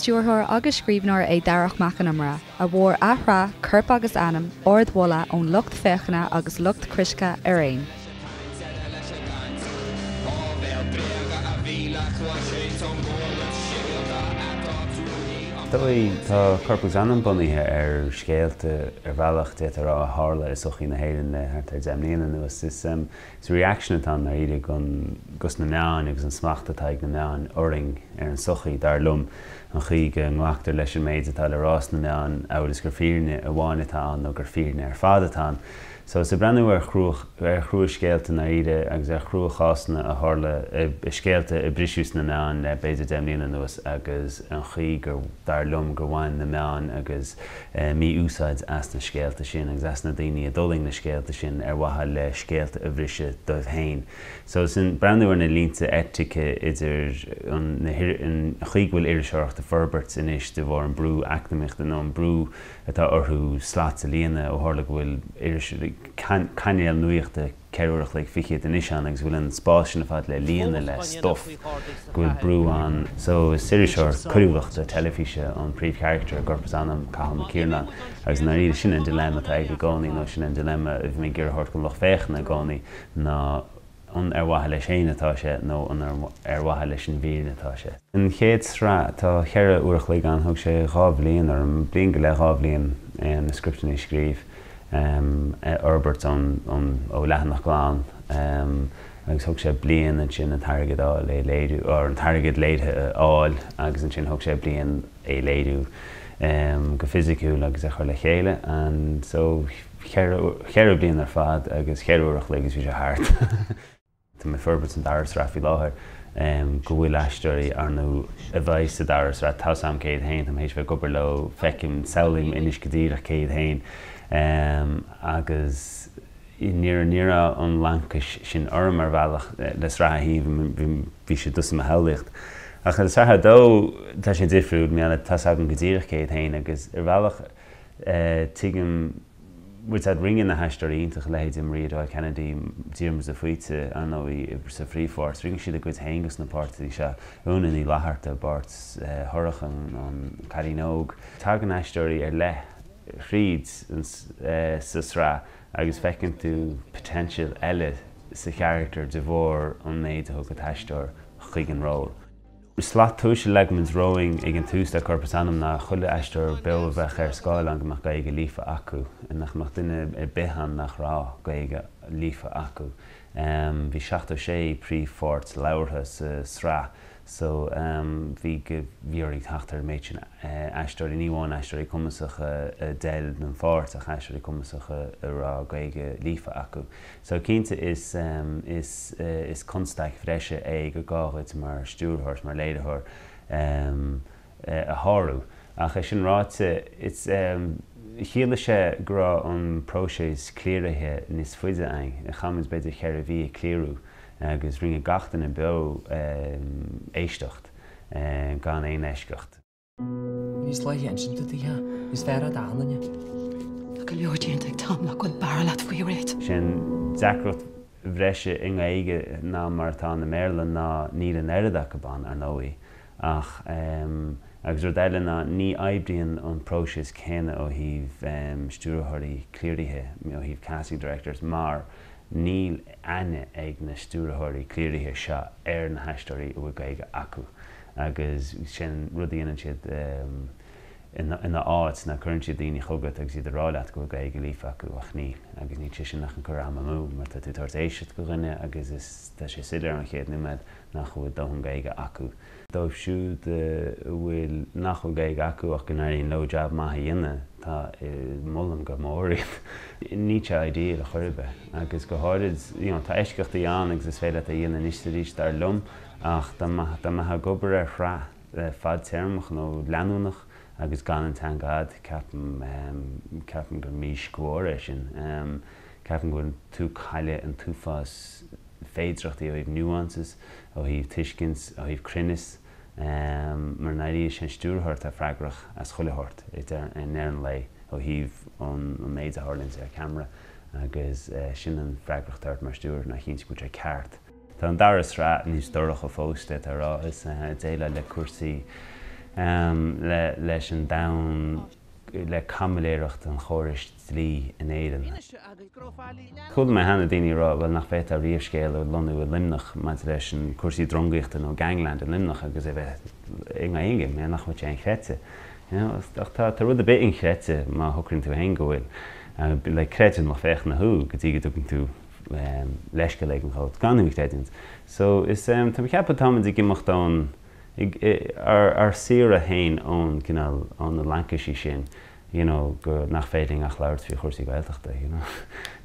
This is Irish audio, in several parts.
stiúrthóir agus scríbhneoir é Darach Mac Con Iomaire, a bhfuair a shraith Corp agus Anam ardmholadh ón lucht féachana agus lucht critice ar aon. Dóigh, tá Corp agus Anam bunaithe ar scéalta, ar bhealach, d'fhéadfá a rá, a tharla i sochaí na hÉireann le thart ar 10 mbliana anuas. Is reaction atá ann, ndáiríre, dos na meáin agus an smacht atá ag na meáin orainn, ar an sochaí, dar liom, an chaoi go nglactar leis an méid atá le rá sna meáin amhail is gur fírinne amháin atá ann nó gur fírinne ar fad atá ann. So, is ag breathnú ar ar chrua-scéalta i ndáiríre agus ar chrua-chásanna a tharla, scéalta a briseadh sna meáin le b'fhéidir 10 mbliana anuas agus an chaoi gur, dar liom, gur bhain na meáin agus mí-úsáid as na scéalta sin agus as na daoine a d'fhulaing na scéalta sin ar mhaithe le scéalta a bhriseadh dóibh féin. So, sin breathnú ar na línte eitice idir an an chaoi go bhfuil iriseoireacht ag forbairt anois de bharr an brú eacnamaíochta nó an brú atá orthu slots a líonadh ó tharla go bhfuil iris, cainéal nuachta 4 uair a chloig fichead anois ann agus go bhfuil an spás sin ar fad le líonadh le stuff, go bhfuil brú ann. So is iriseoir coiriúlachta teilifíse an príomhcharachtar i gCorp is Anam, Cathal Mac Iarnáin, agus i ndáiríre sin an dilemma atá aige i gcónaí nó sin an dilemma a bhí mé ag iarraidh a thabhairt don lucht féachana i gcónaí ná an ar mhaithe leis féin atá sé nó an ar mhaithe leis an bhfírinne atá sé. An chéad sraith, tá cheithre uair a chloig ann, thóg sé dhá bhliain orm, bliain go leith, dhá bhliain, na scripteanna a scríobh, a fhorbairt ón, ó leathanach glan agus thóg sé bliain ansin an t-airgead a fháil é a léiriú, or an t-airgead léirithe a fháil agus ansin thóg sé bliain é a léiriú go fisiciúil agus a chur le chéile and so cheithre bliana ar fad agus cheithre uair a chloig agus bhí sé thart. Tá mé ag forbairt an dara sraith faoi láthair go bhfuil aisteoirí ar ndóigh a bheidh sa dara sraith, tá 's a'm cé hiad féin, tá mé théis bheith ag obair leo, feicim, samhlaím anois go díreach cé hiad féin agus ní ní raibh an laincis sin orm ar bhealach le sraith a haon, bhí sé doiligh i mo shamhlaíocht. Ach le sraith a dó tá sé difriúil, mar tá 's agam go díreach cé hiad féin agus ar bhealach tuigim, bhfuil 's a'd, rinne na haisteoirí iontacha, leithéidí Maria Doyle Kennedy, Diarmuid de Faoite, ar ndóigh, sa phríomhpháirt, rinne siad a gcuid féin dos na páirteanna seo. Úna Ní Fhlatharta i bpáirt Shorcha, an cailín óg. Tagann aisteoirí ar leith thríd sa sraith agus feiceann tú potential eile sa charachtar de bharr an méid a thug an t-aisteoir chuig an ról. Slat tomhais a leag muid romhainn ag an tús le Corp is Anam ná chuile aisteoir beo a bheadh ar scáileán go mbeadh Gaeilge líofa acu, nach mbeadh duine ar bith ann nach raibh Gaeilge líofa acu. Bhí 76 príomhpháirt labhartha sa sraith so bhí go bhí orainn teacht ar an méid sin aisteoirí, ní amháin aisteoirí cumasacha a d'fheil don pháirt ach aisteoirí cumasacha a raibh Gaeilge líofa acu. So cinnte is is is constaic bhreise é gur gá dhuit mar stiúrthóir is mar léiritheoir a shárú. Ach é sin ráite, it's chiallaigh sé go raibh an próiseas cliaraithe níos faide againn. Chaith muid b'fhéidir cheithre mhí ag cliarú agus rinne gach duine beo éisteacht gan aon eisceacht. Níos luaithe insint duit a níos fearr a d'achan duine. Tá go leor déanta ag Tom nach bhfuil barúil agat faoi oiread. Sé an deacracht bhreise i nGaeilge ná mar atá ann i mBéarla ná níl an oiread acu ann, ar ndóigh, ach agus rud eile ná ní oibríonn an próiseas céanna ó thaobh stiúrthóirí cliaraithe, ó thaobh casting directors, mar níl aithne ag na stiúrthóirí cliaraithe seo ar na haisteoirí a bhfuil Gaeilge acu agus sin rud a dhéanann siad ina áit ná cuireann siad daoine chugat agus iad ag rá leat go bhfuil Gaeilge líofa acu ach níl agus níl sé sin ach ag cur am amú mar tá tú ag tabhairt éisteacht do dhuine agus is tá sé soiléir ón chéad nóiméad nach bhfuil dóthain Gaeilge acu. Dóibh siúd a bhfuil nach bhfuil Gaeilge acu ach go n-éiríonn leo jab maith a dhéanamh tá molaim go mór iad. Níl sé ideal ar chor ar bith agus go háirid you know tá eisceachtaí ann agus is féidir leat é a dhéanamh anois is arís dar liom ach dá mbeifeá ag obair ar shraith fadtéarmach nó leanúnach agus gan an teanga a'd, ceapaim, ceapaim gur míscór é sin. Ceapaim go bhfuil tú ag cailleadh an t-uafás féidireachtaí ó thaobh nuances, ó thaobh tuiscint, ó thaobh cruinneas, mar i ndáiríre is é an stiúrthóir atá freagrach as chuile shórt i ndeireadh an lae ó thaobh an méid a tharlaíonns ar ceamara agus sin an freagracht ort mar stiúrthóir ná cinntiú go bhfuil sé ceart. Tá an dara sraith níos dorcha fós, d'fhéadfá a rá. Is ag déileáil le cúrsaí. leis an domhan, le caimiléireacht an chórais dlí in Éirinn. Chuala mé cheana daoine ag rá, bhuel, nach bhféadfá riamh scéal a lonnú i Luimneach maidir leis an cúrsaí drongaíochta nó gangland i Luimneach agus é bheith i nGaeilge, mar nach bhfuil sé inchreidte. You know, ach tá, tá rud ar bith inchreidte má shocraíonn tú féin go bhfuil. Like, creideann lucht féachana thú go dtí go dtugann tú leithscéal éigin dhóibh gan thú a chreidiúint. So, is, tá mé ag ceapadh táimid ag imeacht ón, ár saoire féin ón gcineál, ó na laincisí sin, you know, go, nach féidir linn ach labhairt faoi chúrsaí Gaeltachta, you know.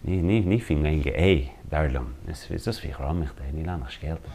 Ní, ní, ní faoin nGaeilge é, dar liom. Is, is just faoi dhrámaíocht é, níl ann ach scéalta.